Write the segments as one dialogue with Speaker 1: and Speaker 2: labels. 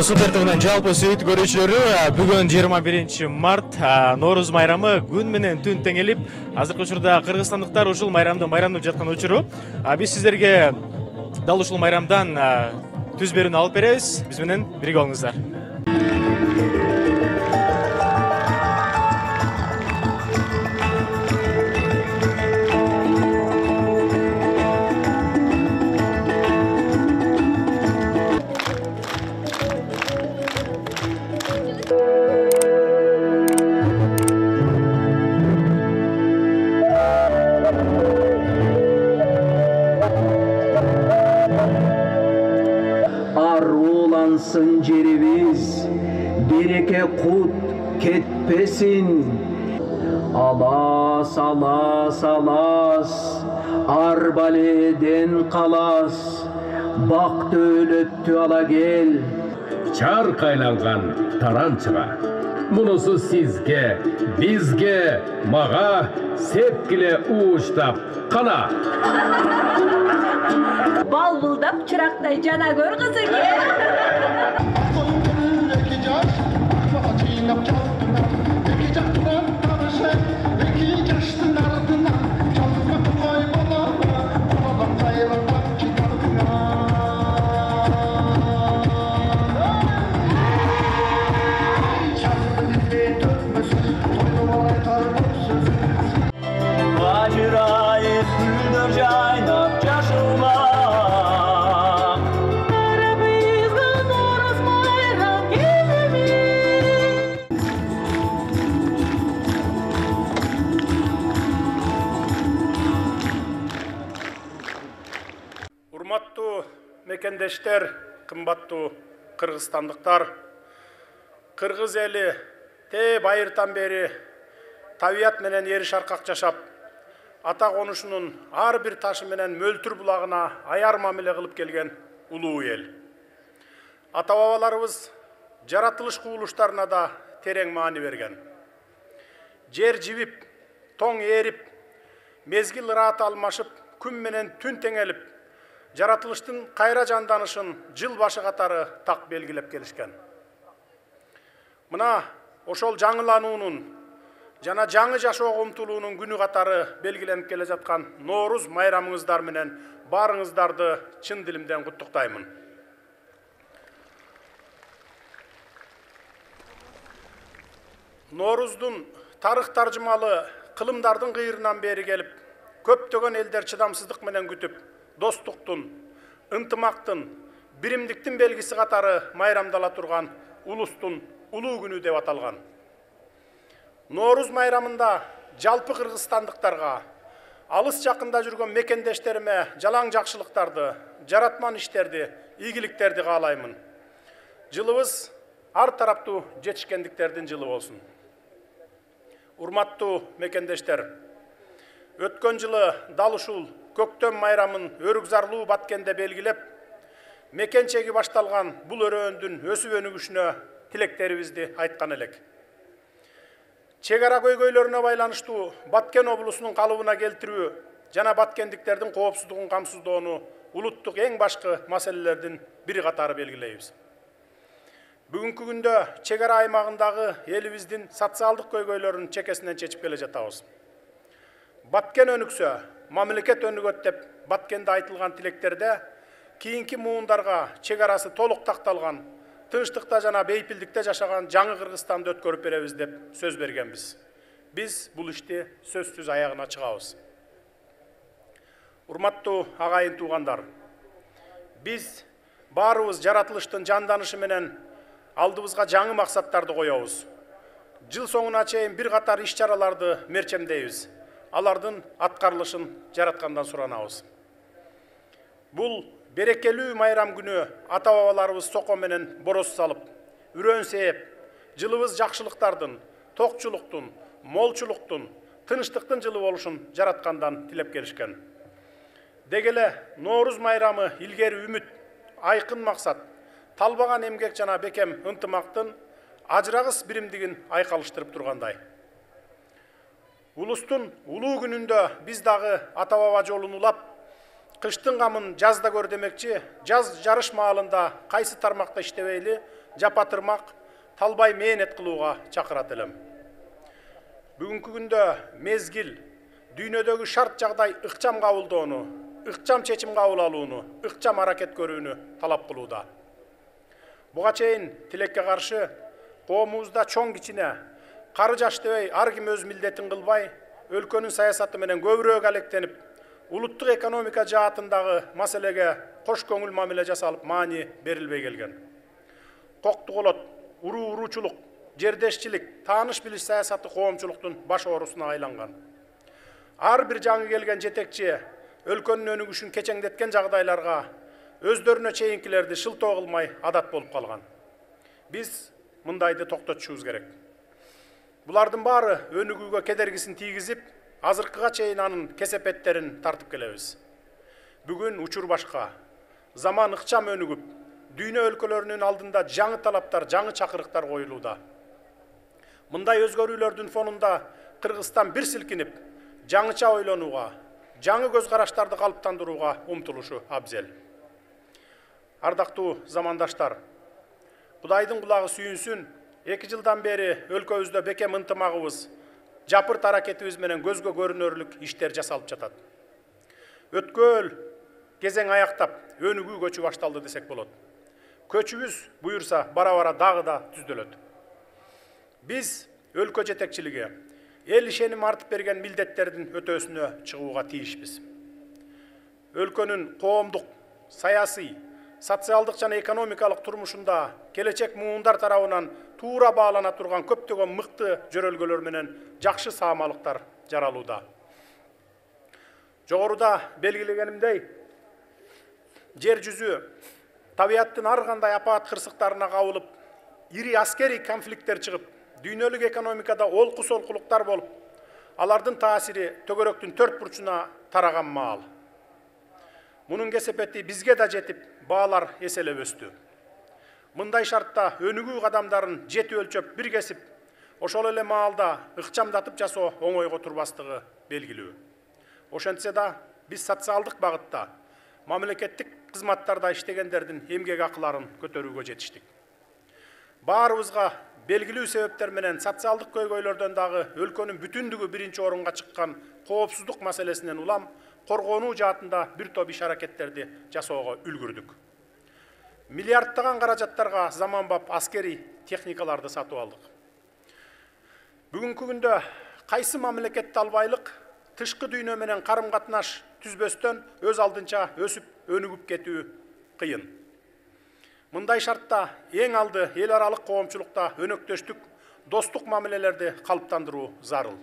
Speaker 1: Супер ТВнын жалпы сүйүктүү көрүүчүлөрү, бүгүн 21 март Нооруз майрамы күн менен түн теңелип, азыркы учурда кыргызстандыктар ушул майрамды майрамдап жаткан учуру. Биз сиздерге дал ушул майрамдан түз берүүнү алып беребиз. Биз менен бирге болуңуздар.
Speaker 2: Arulansın cerimiz, bereke kut ketpesin. Alas, alas, alas, arbaleden kalas. Bak dövlöttü ala gel.
Speaker 3: Çar kaylangan tarançıga. Munusu sizge, bizge, mağa, sepkile uğuştap, kana.
Speaker 4: Balbıldap çıraktay cana gör kızı gel.
Speaker 5: Урматтуу мекендештер, кымбаттуу кыргызстандыктар, кыргыз эли те байыртан бери табият менен ери шаркак жашап, ата конушунун ар бир ташы менен мөлтүр булагына аяр мамиле кылып келген улуу эл. Ата бабаларыбыз жаратылыш кубулуштарына да терең маани берген. Жер жибип, тоң ээрип, мезгил ырааты алмашып, күн менен түн теңелип, жаратылыштын кайра жанданышын жыл башы катары так белгилеп келишкен. Мына ошол жаңылануунун жана жаңы жашоого умтулуунун күнү катары белгиленип келе жаткан Нооруз майрамыңыздар менен баарыңыздарды чын дилимден куттуктаймын. Нооруздун тарых таржымалы кылымдардын кыйырынан бери келип, көптөгөн элдер чыдамсыздык менен күтүп, достуктун, ынтымактын, биримдиктин белгиси катары майрамдала турган улустун улуу күнү деп аталган. Нооруз майрамында жалпы кыргызстандыктарга, алыс жакында жүргөн мекендештериме жалаң жакшылыктарды, жаратман иштерди, ийгиликтерди каалаймын. Жылыбыз ар тараптуу жетишкендиктердин жылы болсун. Урматтуу мекендештер, өткөн жылы дал ушул көктөм майрамын өрүкзарлуу Баткенде белгилеп, мекенчеги башталган бул өрөөндүн өсүп өнүгүшүнө тилектерибизди айткан элек. Чек ара көйгөйлөрүнө байланыштуу Баткен облусунун калыбына келтирүү жана баткендиктердин коопсуздугун камсыздоону улуттук эң башкы маселелердин бири катары белгилейбиз. Бүгүнкү күндө чек ара аймагындагы элибиздин социалдык көйгөйлөрүн чекесинен чечип келе жатабыз. Баткен өнүксө, мамлекет өнүгөт деп Баткенде айтылган тилектерде кийинки муундарга чек арасы толук такталган, тынчтыкта жана бейпилдикте жашаган жаңы Кыргызстанды өткөрүп беребиз деп сөз бергенбиз. Биз бул ишти сөзсүз аягына чыгабыз. Урматтуу агайын туугандар, биз баарыбыз жаратылыштын жанданышы менен алдыбызга жаңы максаттарды коебуз. Жыл соңуна чейин бир катар иш-чараларды мерчемдейбиз. Алардын аткарылышын жараткандан суранабыз. Бул берекелүү майрам күнү ата бабаларыбыз соко менен бороз салып, үрөн сээп, жылыбыз жакшылыктардын, токчулуктун, молчулуктун, тынчтыктын жылы болушун жараткандан тилеп келишкен. Деги эле Нооруз майрамы илгери үмүт, айкын максат, талбаган эмгек жана бекем ынтымактын ажырагыс биримдигин айкалыштырып тургандай. Улустун улуу күнүндө биз дагы ата баба жолун улап, кыштын камын жазда көр демекчи, жаз жарыш маалында кайсы тармакта иштебейли, жапатырмак, талбай мээнет кылууга чакырат элем. Бүгүнкү күндө мезгил дүйнөдөгү шарт жагдай ыкчам кабылдоону, ыкчам чечим кабыл алууну, ыкчам аракет көрүүнү талап кылууда. Буга чейин тилекке каршы коомубузда чоң кичине, кары жаш дебей ар ким өз милдетин кылбай, өлкөнүн саясаты менен көбүрөөк алектенип, улуттук экономика жаатындагы маселеге кош көңүл мамиле жасалып маани берилбей келген. Коктуголот, уруу-уруучулук, жердешчилик, тааныш билиш саясаты коомчулуктун баш оорусуна айланган. Ар бир жаңы келген жетекчи өлкөнүн өнүгүшүн кечеңдеткен жагдайларга өздөрүнө чейинкилерди шылтоо кылмай адат болуп калган. Биз мындайды токтотушубуз керек. Булардын баары өнүгүүгө кедергисин тийгизип, азыркыга чейин анын кесепеттерин тартып келебиз. Бүгүн учур башка, заман ыкчам өнүгүп, дүйнө өлкөлөрүнүн алдында жаңы талаптар, жаңы чакырыктар коюлууда. Мындай өзгөрүүлөрдүн фонунда Кыргызстан бир силкинип, жаңыча ойлонууга, жаңы көз караштарды калыптандырууга умтулушу абзел. Ардактуу замандаштар, Кудайдын кулагы сүйүнсүн, 2 жылдан бери өлкөбүздө бекем ынтымагыбыз, жапырт аракетибиз менен көзгө көрүнөрлүк иштер жасалып жатат. Өткөл кезең аяктап, өнүгүү көчү башталды десек болот. Көчүбүз буюрса бара-бара дагы да түздөлөт. Биз өлкө жетекчилиги эл ишеним артып берген милдеттердин өтөөсүнө чыгууга тийишпиз. Өлкөнүн коомдук, саясий, социалдык жана экономикалык турмушунда келечек муундар тарабынан туура баалана турган көптөгөн мыкты жөрөлгөлөр менен жакшы саамалыктар жаралууда. Жогоруда белгилегенимдей, жер жүзү табияттын ар кандай апаат кырсыктарына кабылып, ири аскерий конфликттер чыгып, дүйнөлүк экономикада олку-солкулуктар болуп, алардын таасири төгөрөктүн 4 бурчуна тараган маал. Мунун кесепети бизге да жетип, баалар эселеп өстү. Мындай шартта өнүгүү кадамдарын жети өлчөп бир кесип, ошол эле маалда ыкчамдатып жасоо оңойго турбастыгы белгилүү. Ошентсе да биз социалдык багытта, мамлекеттик кызматтарда иштегендердин эмгек акыларын көтөрүүгө жетиштик. Баарыбызга белгилүү себептер менен социалдык көйгөйлөрдөн дагы өлкөнүн бүтүндүгү биринчи орунга чыккан коопсуздук маселесинен улам коргонуу жаатында бир топ иш аракеттерди жасоого үлгүрдүк. Миллиардтаган каражаттарга заманбап аскерий техникаларды сатып алдык. Бүгүнкү күндө кайсы мамлекетти албайлык тышкы дүйнө менен карым-катнаш түзбөстөн өз алдынча өсүп, өнүгүп кетүү кыйын. Мындай шартта эң алды эл аралык коомчулукта өнөктөштүк, достук мамилелерди калыптандыруу зарыл.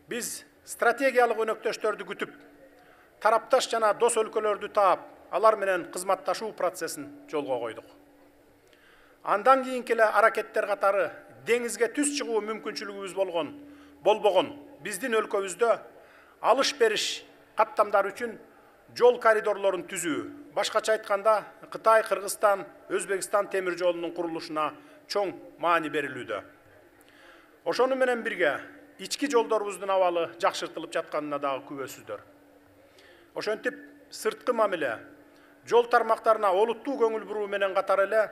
Speaker 5: Биз стратегиялык өнөктөштөрдү күтүп, тарапташ жана дос өлкөлөрдү таап, алар менен кызматташуу процессин жолго койдук. Андан кийинки эле аракеттер катары деңизге түз чыгуу мүмкүнчүлүгүбүз болбогон биздин өлкөбүздө алыш-бериш каттамдар үчүн жол коридорлорун түзүү, башкача айтканда Кытай, Кыргызстан, Өзбекстан темир жолунун курулушуна чоң маани берилүүдө. Ошону менен бирге ички жолдорубуздун абалы жакшыртылып жатканына дагы күбөсүздөр. Ошентип сырткы мамиле, жол тармактарына олуттуу көңүл буруу менен катар эле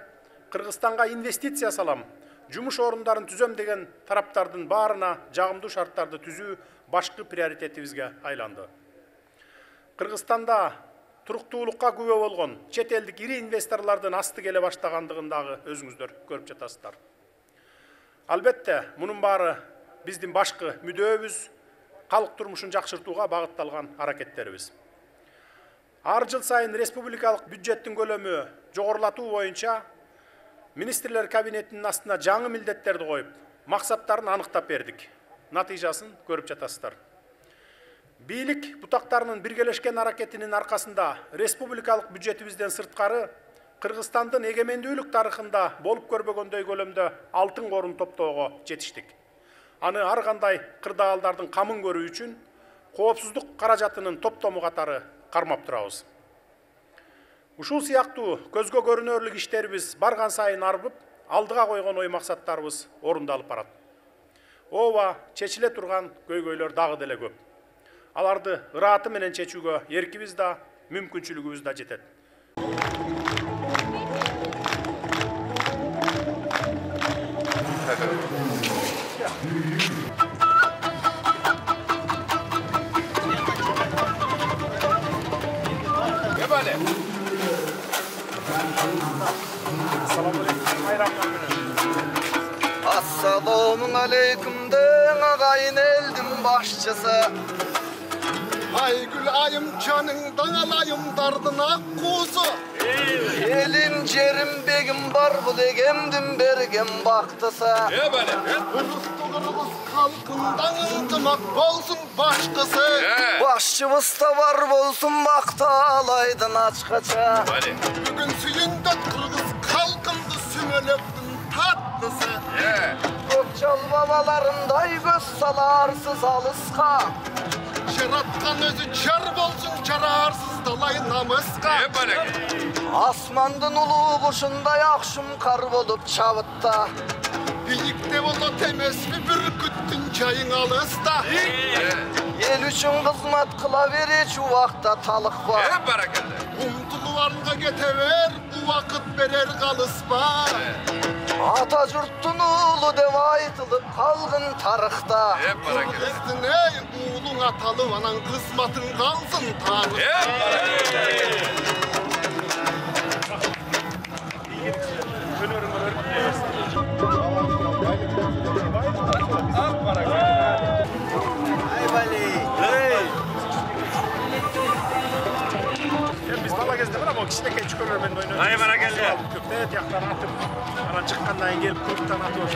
Speaker 5: Кыргызстанга инвестиция салам, жумуш орундарын түзөм деген тараптардын баарына жагымдуу шарттарды түзүү башкы приоритетибизге айланды. Кыргызстанда туруктуулукка күбө болгон чет элдик ири инвесторлордун асты келе баштагандыгын дагы өзүңүздөр көрүп жатасыздар. Албетте, мунун баары биздин башкы мүдөөбүз, калк турмушун жакшыртууга багытталган аракеттерибиз. Ар жыл сайын республикалык бюджеттин көлөмү жогорулатуу боюнча министрлер кабинетинин астына жаңы милдеттерди коюп, максаттарын аныктап бердик. Натыйжасын көрүп жатасыздар. Бийлик бутактарынын биргелешкен аракетинин аркасында республикалык бюджетибизден сырткары Кыргызстандын эгемендүүлүк тарыхында болуп көрбөгөндөй көлөмдө алтын корун топтоого жетиштик. Аны ар кандай кырдаалдардын камын көрүү үчүн коопсуздук каражатынын топтому катары кармап турабыз. Ушул сыяктуу көзгө көрүнөрлүк иштерибиз барган сайын арбып, алдыга койгон ой максаттарыбыз орундалып барат. Ооба, чечиле турган көйгөйлөр дагы деле көп. Аларды ырааты менен чечүүгө эркибиз да, мүмкүнчүлүгүбүз да жетет.
Speaker 6: алейкумдың ағайын елдің башчысы.
Speaker 7: Aygül ayım canından alayımdardın akkuzu.
Speaker 6: Elin cerim begim var bu legemdim bergem baktısı.
Speaker 7: Kırgız halkından ıldımak bolsun başkası.
Speaker 6: Başçımız da var bolsun bakta alaydın açkaça.
Speaker 7: Bugün suyundat kırgız halkındı sümölöktün tatlısı.
Speaker 6: Gökçal babalarınday göz salarsız alıska.
Speaker 7: Şeratkan özü çar bolsun çararsız dalay namıska.
Speaker 6: Asmandın ulu kuşunda yakşım kar bolup çavıtta.
Speaker 7: Biyikte bolo temes mi bürküttün çayın alısta.
Speaker 6: El üçün kızmat kılaveri şu vakta talık var.
Speaker 7: Umtuluvarga getever bu vakit verer kalıspa.
Speaker 6: Ata jurttun ulu dev aytılıp kalgın tarıkta.
Speaker 7: Kırgızdın ey uğulun atalı anan kısmatın kalsın tarıkta.
Speaker 5: Biz bala kezde bana bak işte geç körürmen oynuyor. Ay bana geldi. Köfte yaktan atıp ara çıkkandan gelip kurttan atıyor.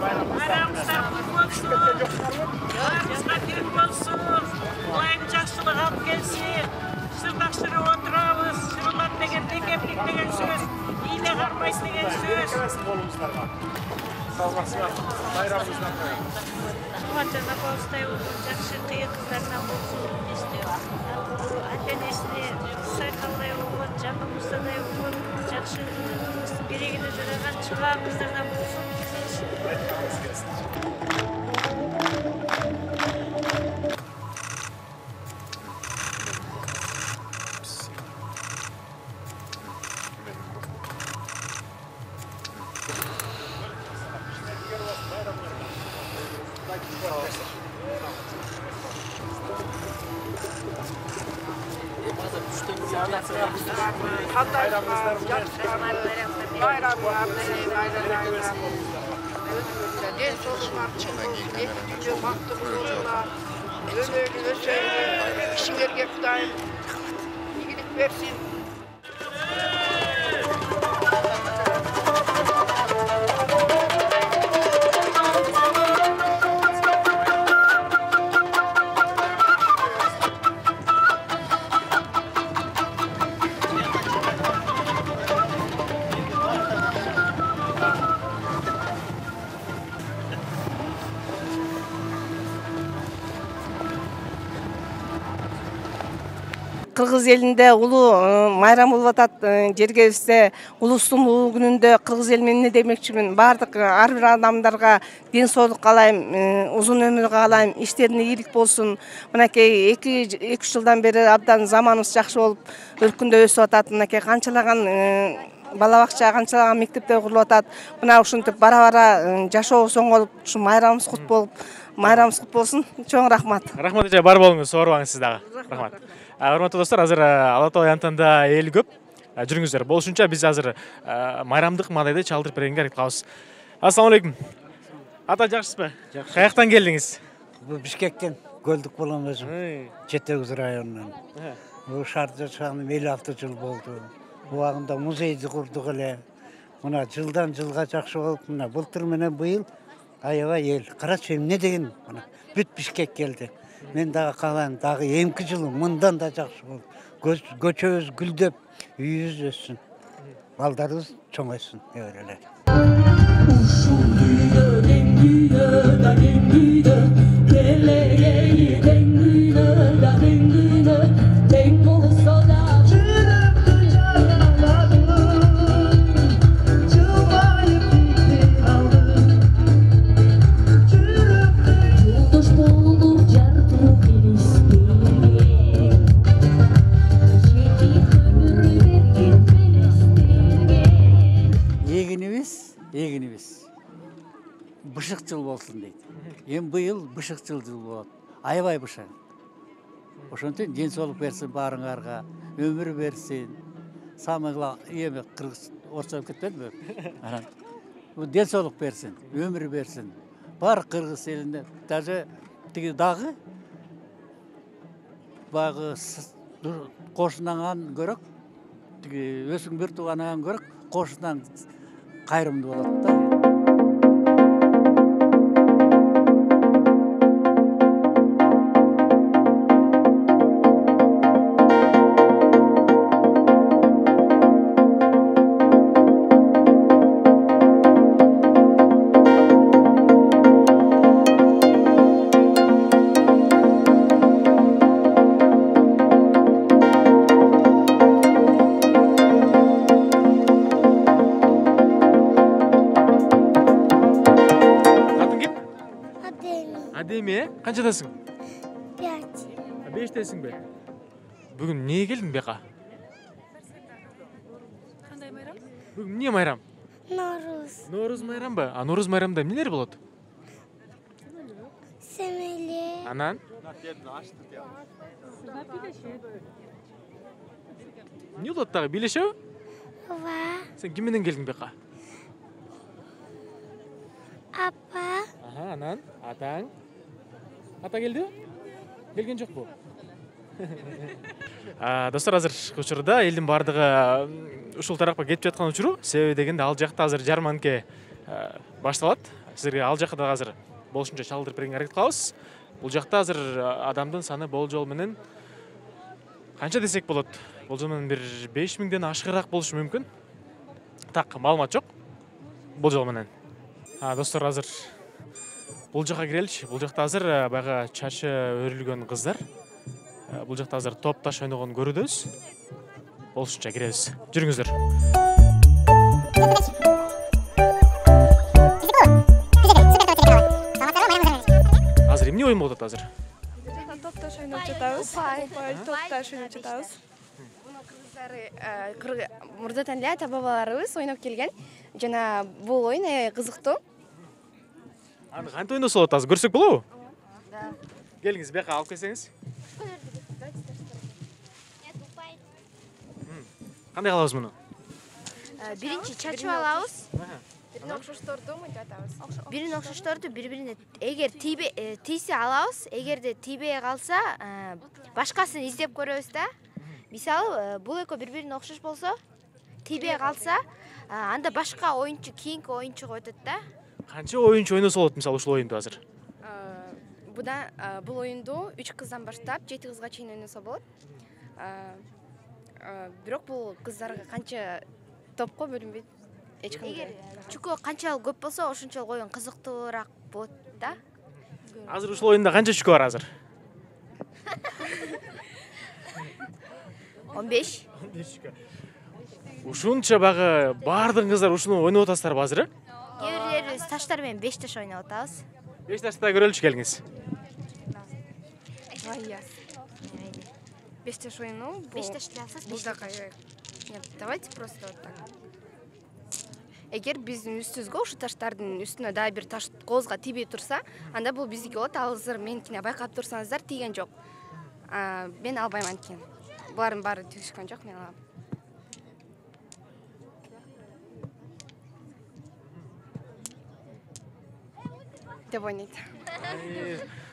Speaker 8: Bayramımızdan kutlu olsun. Yollarımızda büyük olsun. Olayın жақсылық алып келсін. Сырдаштырып отырамыз. Сырлар деген кемдік деген сөз. Ийле қармайсыз деген сөз.
Speaker 5: Bayramımızdan.
Speaker 8: Жана болстай жақсы қиын қыздарынан болсын десті. Ата-енесіне сайқалдай болған, жанымыздадай болған, жақсы тұрмыстың берегіне жараған чыған қыздардан болсын.
Speaker 9: Kişilerge Kudayım iyilik versin.
Speaker 10: Кыргыз элинде улуу майрам болуп атат. Жергебизде улустун улуу күнүндө кыргыз эл менен эмне демекчимин? Бардык ар бир адамдарга ден соолук каалайм, узун өмүр каалайм, иштерине ийгилик болсун. Мынакей 2-3 жылдан бери абдан заманыбыз жакшы болуп, өлкөндө өсүп атат. Мынакей канчалаган бала бакча, канчалаган мектептер курулуп атат. Мына ушинтип бара-бара жашообуз оңолуп, ушу майрамыбыз кут болуп, майрамыбыз кут болсун. Чоң рахмат.
Speaker 1: Рахмат эже, бар болуңуз, оорубаңыз сиз дагы. Рахмат. Урматтуу достор, азыр Ала Тоо аянтында эл көп. Жүрүңүздөр. Болушунча биз азыр майрамдык мадайды чалдырып бергенге аракет кылабыз. Ассаламу алейкум. Ата, жакшысызбы? Жакшы. Каяктан келдиңиз?
Speaker 11: Бул Бишкектен, Көлдүк болом өзүм. Чет Өгүз районунан. Бул шаарда жашаганыма 56 жыл болду. Убагында музейди курдук эле. Мына жылдан жылга жакшы болуп, мына былтыр менен быйыл аябай эл. Карачы эмне деген мына бүт Бишкек келди. Мен дагы каалайм, дагы эмки жылы мындан да жакшы болуп, көчөбүз гүлдөп, үйүбүз өссүн. Балдарыбыз чоңойсун, эле. Ушул дүйнөдөн дүйнөдө дүйнө, келеги дүйнөдө дүйнө, тең болсо да жүрөктү жараладым, жылмайып кетти калдым. Жүрөктү жолдош болуп жардуу келиштерге, жети өмүр берген белестерге. Эгинибиз бышык жыл болсун дейт. Эми быйыл бышык жыл болот. Аябай бышык. Ошентип ден соолук берсин баарыңарга, өмүр берсин. Самый главный эми кыргыз орусчалап кетпедиби? Анан ден соолук берсин, өмүр берсин. Бар кыргыз элине, даже тиги дагы багы кошунаңан көрөк, тиги өзүң бир тууганыңан көрөк, кошунан кайрымдуу болот да.
Speaker 1: Адеми, канчадасың?
Speaker 12: 5.
Speaker 1: 5тесиң бе? Бүгүн эмнеге келдиң бияка?
Speaker 12: Кандай майрам?
Speaker 1: Бүгүн эмне майрам?
Speaker 12: Норуз.
Speaker 1: Норуз майрамбы? А Норуз майрамда эмнелер болот?
Speaker 12: Семеле.
Speaker 1: Анан? Эмне болот дагы? Бийлешеби?
Speaker 12: Ооба.
Speaker 1: Сен ким менен келдиң бияка?
Speaker 12: Апа.
Speaker 1: Анан? Атаң? Ата келди? Келген жокпу? Достор, азыр учурда элдин баардыгы ушул тарапка кетип жаткан учуру. Себеби дегенде ал жакта азыр жарманке башталат. Сизерге ал жакка да азыр болушунча чалдырып берүүгө аракет кылабыз. Бул жакта азыр адамдын саны болжол менен канча десек болот? Болжол менен бир 5000ден ашыгыраак болушу мүмкүн. Так, маалымат жок. Болжол менен. Достор, азыр бул жакка киреличи. Бул жакта азыр баягы чачы өрүлгөн кыздар. Бул жакта азыр топ таш ойногон көрүүдөбүз. Болушунча киребиз. Жүрүңүздөр. Азыр эмне оюн болуп атат азыр?
Speaker 13: Топ таш ойноп жатабыз. Топ таш ойноп жатабыз. Буну кыргыздары мурдатан эле ата бабаларыбыз ойноп келген. Жана бул оюн аябай кызыктуу.
Speaker 1: Аны кантип ойносо болот азыр көрсөк болобу? Да. Келиңиз, бияка алып келсеңиз. Кандай кылабыз муну?
Speaker 13: Биринчи чачып алабыз. Бирин окшошторду мынтип атабыз. Бирин окшошторду бири-бирине эгер тийсе алабыз, эгерде тийбей калса, башкасын издеп көрөбүз да. Мисалы, бул экөө бири-бирине окшош болсо, тийбей калса, анда башка оюнчу, кийинки оюнчуга өтөт да.
Speaker 1: Канча оюнчу ойносо болот мисалы ушул оюнду азыр?
Speaker 13: Бул оюнду 3 кыздан баштап 7 кызга чейин ойносо болот. Бирок бул кыздарга канча топко бөлүнбөйт. Эч кандай. Эгер чүкө канчалык көп болсо, ошончолук оюн кызыктуураак болот да.
Speaker 1: Азыр ушул оюнда канча чүкө бар азыр?
Speaker 13: 15.
Speaker 1: 15 чүкө. Ушунча багы баардык кыздар ушуну ойноп атасыздарбы азыр?
Speaker 13: Кээ бирлерибиз таштар менен 5 таш ойноп атабыз.
Speaker 1: 5 ташта көрөлүчү келиңиз.
Speaker 13: Ая. 5 таш ойну. 5 таш алсак 5 таш. Нет, давайте просто вот так. Эгер биздин үстүбүзгө ушу таштардын үстүнө дагы бир таш коозго тийбей турса, анда бул биздики болот. Азыр меникине байкап турсаңыздар, тийген жок. Мен албайм анткени. Булардын баары тийишкен жок, мен алам. Деп ойнойт.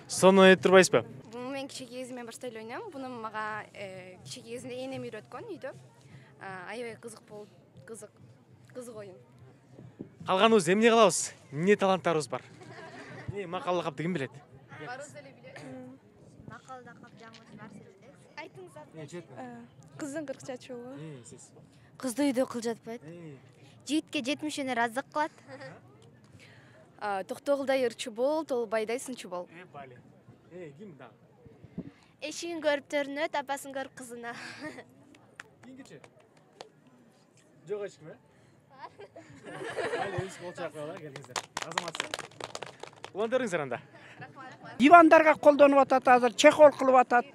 Speaker 1: Сонун ойноп турбайсызбы?
Speaker 13: Буну мен кичинекей кезимден баштап эле ойнойм. Буну мага кичинекей кезимде энем үйрөткөн үйдө. Аябай кызык болуп, кызык оюн.
Speaker 1: Калганыбыз эмне кылабыз? Эмне таланттарыбыз бар? Макал лакапты ким билет?
Speaker 13: Барыбыз эле билет. Макал лакап жаңыбыз бар сиздер. Айтыңыздар.
Speaker 12: Кыздын 40 чачыбы.
Speaker 1: Сиз.
Speaker 13: Кызды үйдө кыл жатпайт. Жигитке 70 өнөр аздык кылат. Токтогулдай ырчы бол, Толбайдай сынчы бол.
Speaker 1: Бали. Ким дагы?
Speaker 13: Эшигин көрүп төрүнөт, апасын көрүп кызына.
Speaker 1: Кийингичи? Жок эчким, Бали, өз болчак кылалы, келиңиздер. Азаматсыз. Улантырыңыздар анда.
Speaker 14: Дивандарга колдонуп атат, азыр чехол кылып атат.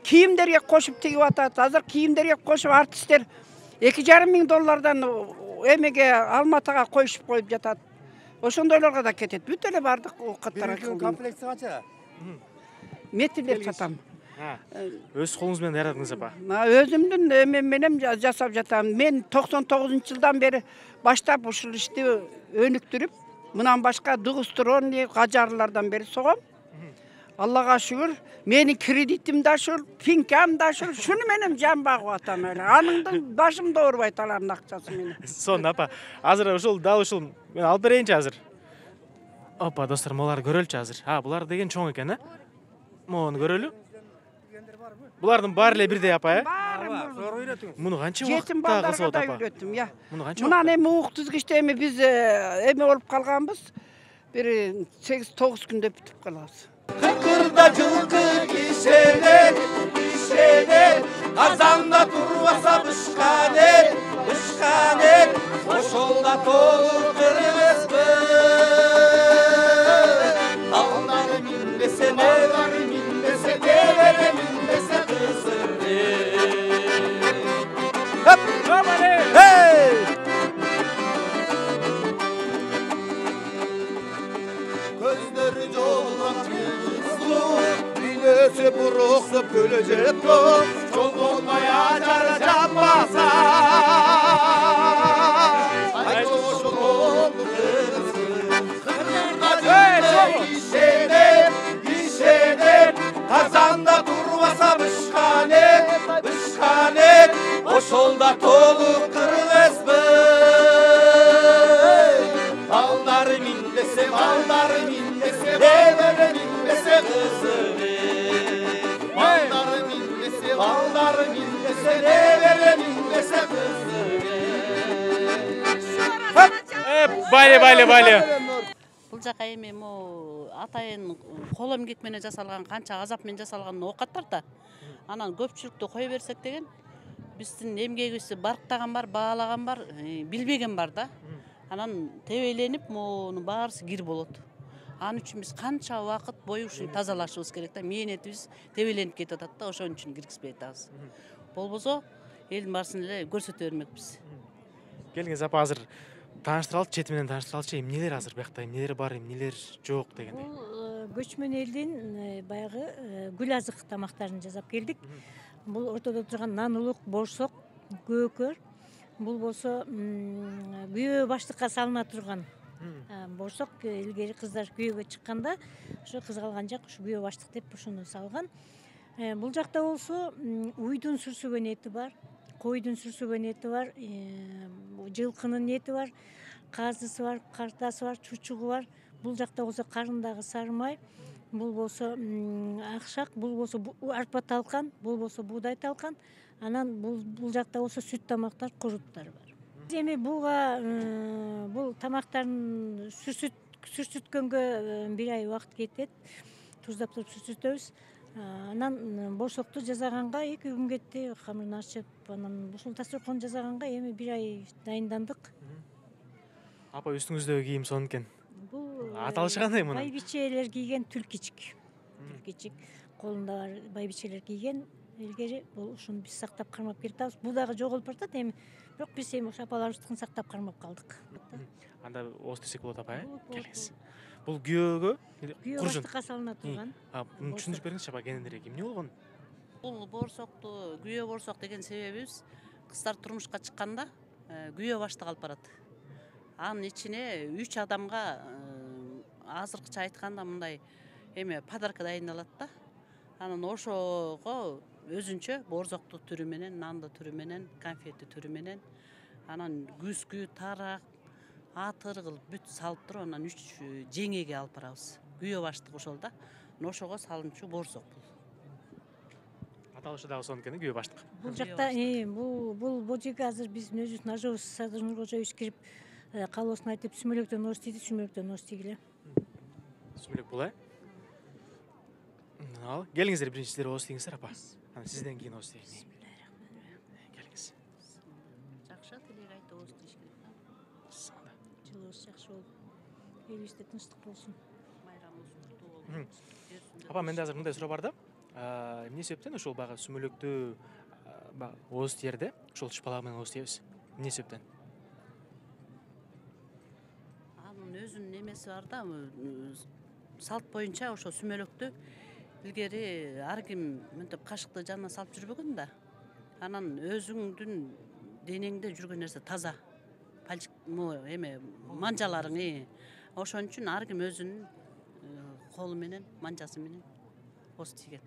Speaker 14: Кийимдерге кошуп тигип атат. Азыр кийимдерге кошуп артисттер $2,500 эмеге Алматыга коюшуп коюп жатат. Ошондойлорго да кетет. Бүт эле бардык оокаттар кылган.
Speaker 15: Комплекти канча?
Speaker 14: метрлеп сатам.
Speaker 1: Өз колуңуз менен даярдыңыз апа?
Speaker 14: Өзүмдүн эмем менен жасап жатам. Мен 99-жылдан бери баштап ушул ишти өнүктүрүп, мындан башка дугустрон, гажарлардан бери согом. Аллага шүгүр, менин кредитим да ушул, пинкам да ушул, шуну менен жан багып атам эле. Аныңды башымда оорубайт алардын акчасы менен.
Speaker 1: Сонун апа. Азыр ушул дал ушул мен алып берейинчи азыр. Опа, достор, буларды көрөлүчү азыр. Булар деген чоң экен, Мону көрөлү. Булардын баары эле бирдей апа, Муну канча убакытта кылсып атат апа? Муну канча?
Speaker 14: Мунан эми ук тизгичте эми биз эме болуп калганбыз. Бир 8-9 күндө бүтүп калабыз.
Speaker 6: Кырда жылкы кишенер, казанда турбаса бышканер, ошолда толуп кыргызбы. Алдары минбесе, невери минбесе, девери минбесе кызырды. Көздөрү жолгон кызлуу, дүйнөсү буруксуп көлөжөп топ, жол болбой ажары жаппаса. Айт ошол болду кызы, кырда кишенер, казанда турбаса бышканер, ошолда толуп кыргызбы. Алдары минбесе, девери минбесе кызыгы. Алдары минбесе, девери минбесе кызыгы.
Speaker 1: Байле.
Speaker 15: Бул жака эми атайын кол эмгек менен жасалган, канча азап менен жасалган оокаттар да. Анан көпчүлүктү кое берсек деген биздин эмгегибизди барктаган бар, баалаган бар, билбеген бар да. Анан тебеленип муну баарысы кир болот. Анын үчүн биз канча убакыт бою ушуну тазалашыбыз керек да. Мээнетибиз тебеленип кетип атат да, ошон үчүн киргизбей атабыз. Болбосо элдин баарысын эле көрсөтө бермекпиз.
Speaker 1: Келиңиз апа, азыр тааныштыралычы, чети менен тааныштыралычы, эмнелер азыр биякта, эмнелер бар, эмнелер жок дегендей.
Speaker 16: Бул көчмөн элдин баягы гүл азык тамактарын жасап келдик. Бул ортодо турган нан-улук, борсок, көкөр. Бул болсо күйөө баштыкка салына турган борсок. Илгери кыздар күйөөгө чыкканда ошо кызгалган жак ушу күйөө баштык деп ушуну салган. Бул жакта болсо уйдун сүрсүгөн эти бар, койдун сүрсүгөн эти бар, жылкынын эти бар, казысы бар, картасы бар, чучугу бар. Бул жакта болсо карындагы сары май, бул болсо акшак, бул болсо арпа талкан, бул болсо буудай талкан. Анан бул жакта болсо сүт тамактар, куруттар бар. Эми буга бул тамактарын сүрсүткөнгө 1 ай убакыт кетет. Туздап туруп сүрсүтөбүз. Анан борсокту жасаганга 2 күн кетти. Камырын ачып, анан ушул дасторкон жасаганга эми 1 ай дайындандык.
Speaker 1: Апа, үстүңүздөгү кийим сонун экен. Бул аталышы кандай мунун?
Speaker 16: Байбичелер кийген түлкичик. Колунда бар байбичелер кийген. Илгери бул ушуну биз сактап кармап келатабыз. Бул дагы жоголуп баратат эми. Бирок биз эми ошо апаларыбыздыкын сактап кармап калдык.
Speaker 1: Анда ооз десек болот апа, келиңиз. Бул күйөөгө
Speaker 16: күйөө баштыкка салына турган.
Speaker 1: Муну түшүндүрүп бериңизчи апа, кененирээк эмне болгон?
Speaker 15: Бул борсокту күйөө борсок деген себебибиз кыздар турмушка чыкканда күйөө баштык алып барат. Анын ичине 3 адамга азыркыча айтканда мындай эме подарка дайындалат да. Анан ошого өзүнчө борсокту түрү менен, нанды түрү менен, конфети түрү менен, анан күскү, тарак, атыр кылып бүт салып туруп, анан 3 жеңеге алып барабыз. Күйөө баштык ошол да. Ошого салынчу борсок бул.
Speaker 1: Аталышы дагы сонун экен, күйөө баштык.
Speaker 16: Бул жакта бул жерге азыр биздин өзүбүздүн ажыбыз Садыр Нуркожоевич кирип каалоосун айтып сүмөлөктөн ооз тийди, сүмөлөктөн ооз тийгиле.
Speaker 1: Сүмөлөк бул, Ал, келиңиздер, биринчи сиздер ооз тийиңиздер апа. Анан сизден кийин ооз тийин. Келиңиз.
Speaker 15: Жакшы тилек айтып ооз тийиш керек да.
Speaker 16: Жылыбыз жакшы болуп, элибизде тынчтык болсун.
Speaker 15: Майрамыбыз куттуу болсун.
Speaker 1: Апа, менде азыр мындай суроо бар да. Эмне себептен ошол баягы сүмөлөктү ооз тиерде, ошол шпалак менен ооз тийебиз? Эмне себептен?
Speaker 15: Анын өзүнүн эмеси бар да, салт боюнча ошо сүмөлөктү Илгери ар ким мынтип кашыкты жанына салып жүрбөгөн да. Анан өзүңдүн денеңде жүргөн нерсе таза. Эме манжаларың. Ошон үчүн ар ким өзүнүн колу менен, манжасы менен ооз тийген.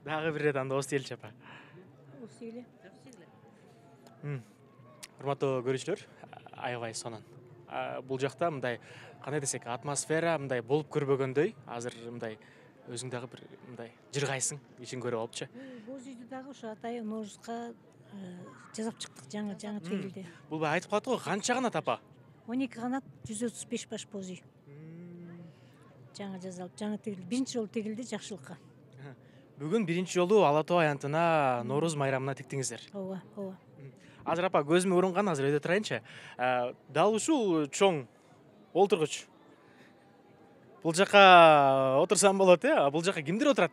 Speaker 1: Дагы бир рет анда ооз тийеличи апа.
Speaker 16: Ооз тийгиле.
Speaker 1: Урматтуу көрүүчүлөр, аябай сонун. Бул жакта мындай кандай десек, атмосфера мындай болуп көрбөгөндөй. Азыр мындай өзүң дагы бир мындай жыргайсың, ишин көрүп алыпчы.
Speaker 16: Боз үйдү дагы ушу атайын Ноорузга жасап чыктык жаңы тегилди.
Speaker 1: Бул айтып калат го, канча канат апа?
Speaker 16: 12 канат, 135 баш боз үй. Жаңы жасалып, жаңы тегилди. Биринчи жолу тегилди жакшылыкка.
Speaker 1: Бүгүн биринчи жолу Ала Тоо аянтына Нооруз майрамына тиктиңиздер.
Speaker 16: Ооба, ооба.
Speaker 1: Азыр апа көзүмө урунган, азыр өйдө турайынчы. Дал ушул чоң олтургуч. Бул жака отурсам болот, бул жака кимдир отурат?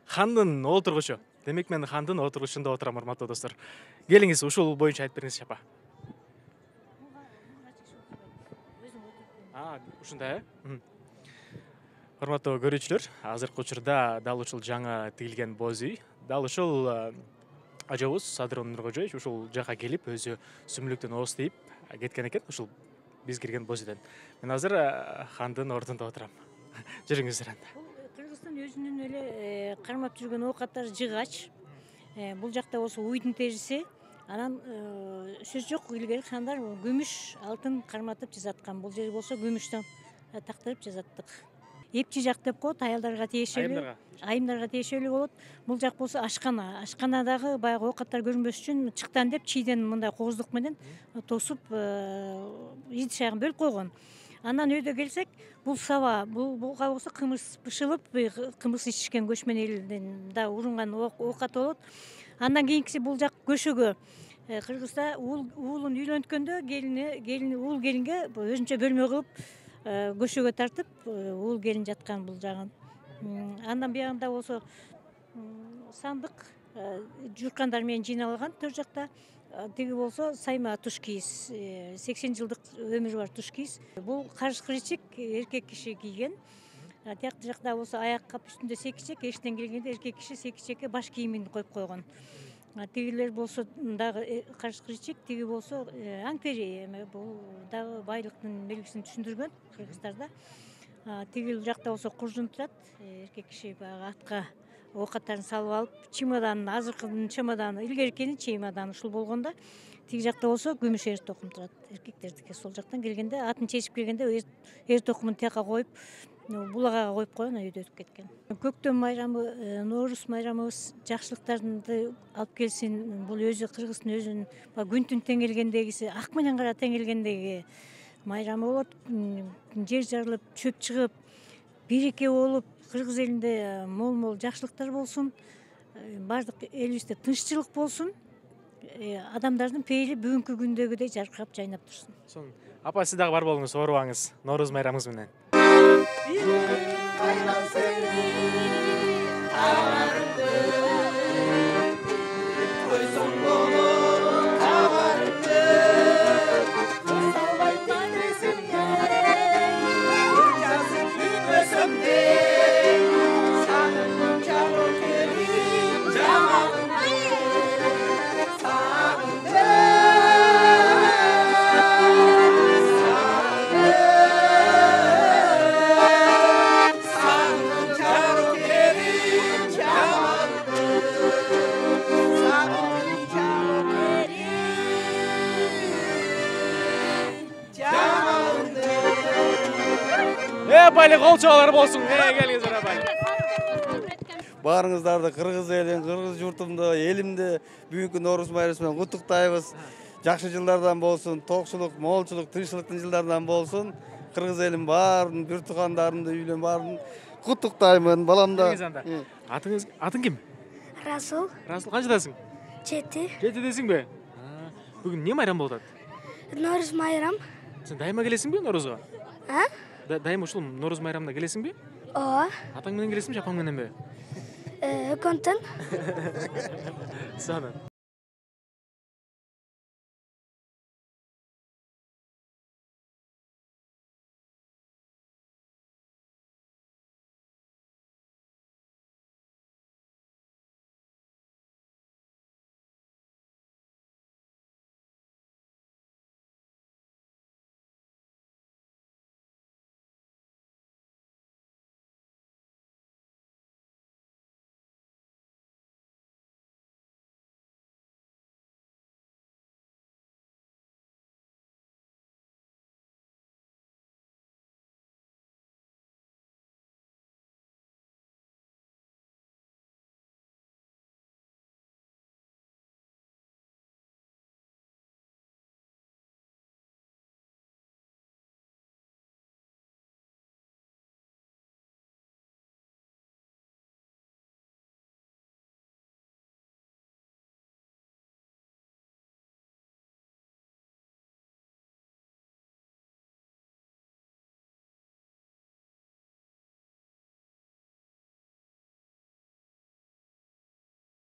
Speaker 1: Хандын олтургучу. Демек мен хандын отургучунда отурам, урматтуу достор. Келиңиз, ушул боюнча айтып бериңизчи апа. Ушундай, Урматтуу көрүүчүлөр, азыркы учурда дал ушул жаңы тигилген боз үй, дал ушул ажабыз Садырон Нуркожоевич ушул жака келип, өзү сүмүлүктөн ооз тийип кеткен экен, ушул биз кирген боз үйдөн. Мен азыр хандын ордунда отурам. Жүрүңүздөр анда.
Speaker 16: Кыргызстан өзүнүн эле кармап жүргөн оокаттары жыгач. Бул жакта болсо уйдун терisi, анан сөз жок, илгери хандар күмүш, алтын карматып жасаткан. Бул жер болсо күмүштөн тактырып жасаттык. Эпчи жак деп коет, аялдарга тиешелүү, айымдарга тиешелүү болот. Бул жак болсо ашкана. Ашканадагы баягы оокаттар көрүнбөс үчүн чыктан деп чийден мындай кооздук менен тосуп идиш аягын бөлүп койгон. Андан өйдө келсек, бул саба, буга болсо кымыз бышылып, кымыз ичишкен көчмөн элден да урунган оокат болот. Андан кийинкиси бул жак көшөгө. Кыргызда уулун үйлөнткөндө уул келинге өзүнчө бөлмө кылып көшөгө тартып, уул келин жаткан бул жагын. Андан биягында болсо сандык журкандар менен жыйналган төр жакта. Тиги болсо сайма туш кийиз, 80 жылдык өмүрү бар туш кийиз. Бул карыш кырычык эркек киши кийген. Тиякты жакта болсо аяк кап үстүндө секичек, эштен келгенде эркек киши секичекке баш кийимин коюп койгон. Тигилер болсо дагы карыш кырычык, тиги болсо аңтери, бул дагы байлыктын белгисин түшүндүргөн кыргыздарда. Тигил жакта болсо куржун турат, эркек киши баягы атка оокаттарын салып алып, чемоданын, азыркынын чемоданы, илгеркинин чемоданы ушул болгондо, тиги жакта болсо күмүш эр токум турат. Эркектердики сол жактан келгенде, атын чечип келгенде эр токумун тияка коюп, булагага коюп койгон, өйдө өтүп кеткен. Көктөм майрамы, Ноорус майрамыбыз жакшылыктарды алып келсин. Бул өзү Кыргыздын өзүнүн күн түн тең келгендегиси, ак менен кара тең келгендеги майрамы болот. Жер жарылып, чөп чыгып, биреке болуп, Кыргыз элинде мол жакшылыктар болсун. Бардык элибизде тынччылык болсун. Адамдардын пейили бүгүнкү күндөгүдөй жаркырап жайнап турсун.
Speaker 1: Апа, сиз дагы бар болуңуз, оорубаңыз. Нооруз майрамыңыз менен. Апайлы кол чабалар болсун. Келиңиздер апайлы.
Speaker 17: Баарыңыздарды кыргыз элин, кыргыз журтумду, элимди бүгүнкү Нооруз майрамы менен куттуктайбыз. Жакшы жылдардан болсун, токчулук, молчулук, тынччылыктын жылдарынан болсун. Кыргыз элим баарын, бир туугандарымды, үйлөн баарын куттуктаймын. Баламда.
Speaker 1: Атың ким?
Speaker 12: Расул.
Speaker 1: Расул, канчадасың?
Speaker 12: 7.
Speaker 1: 7десиңби? Бүгүн эмне майрам болуп атат?
Speaker 12: Нооруз майрам.
Speaker 1: Сен дайыма келесиңби Ноорузга? Дайыма ушул Нооруз майрамына келесиңби?
Speaker 12: Ооба.
Speaker 1: Атаң менен келесиңби, апаң мененби?
Speaker 12: Экөөнтөн.
Speaker 1: Сонун.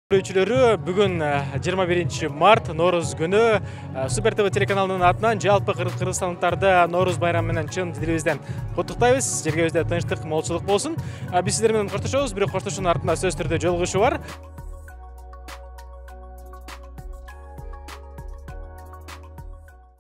Speaker 1: Көрүүчүлөрү, бүгүн 21 март Нооруз күнү Супер ТВ телеканалынын атынан жалпы кыргызстандыктарды Нооруз байрамы менен чын дилибизден куттуктайбыз. Жергебизде тынчтык, молчулук болсун. Биз сиздер менен коштошобуз, бирок коштошуунун артында сөзсүз түрдө жолугушуу бар.